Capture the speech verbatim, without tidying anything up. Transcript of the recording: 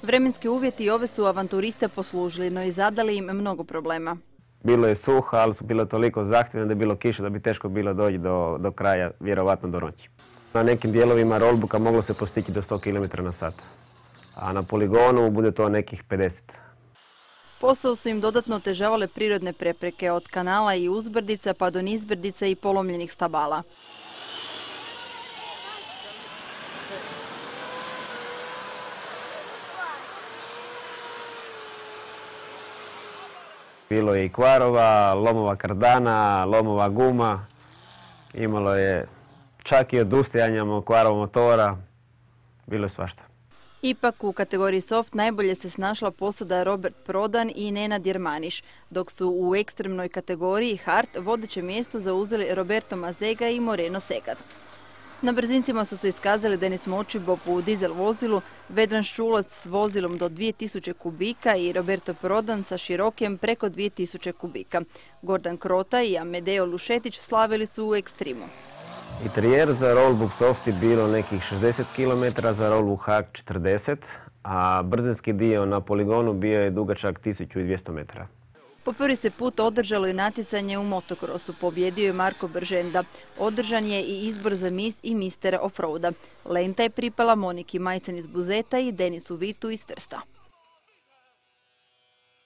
Vremenski uvjeti i ove su avanturiste poslužili, no i zadali im mnogo problema. Bilo je suho, ali su bilo toliko zahtjevne da je bilo kiša da bi teško bilo doći do, do kraja, vjerovatno do noći. Na nekim dijelovima rollbooka moglo se postići do sto kilometara na sat, a na poligonu bude to nekih pedeset. Posao su im dodatno otežavale prirodne prepreke, od kanala i uzbrdica pa do nizbrdica i polomljenih stabala. Bilo je i kvarova, lomova kardana, lomova guma. Imalo je čak i odustajanja kvarova motora. Bilo je svašta. Ipak u kategoriji soft najbolje se snašla posada Robert Prodan i Nenad Jermaniš, dok su u ekstremnoj kategoriji hard vodeće mjesto zauzeli Roberto Mazega i Moreno Segat. Na brzincima su se iskazali Denis Močibop u dizel vozilu, Vedran Ščulac s vozilom do dvije tisuće kubika i Roberto Prodan sa širokem preko dvije tisuće kubika. Gordan Krota i Amedeo Lušetić slavili su u ekstrimu. Interijer za rollbook soft je bilo nekih šezdeset kilometara, za rollbook hard četrdeset, a brzinski dio na poligonu bio je dugačak tisuću dvjesto metara. Po prvi se put održalo i natjecanje u motokrosu. Pobjedio je Marko Brženda. Održan je i izbor za mis i mister offroada. Lenta je pripala Moniki Majcen iz Buzeta i Denisu Vitu iz Trsta.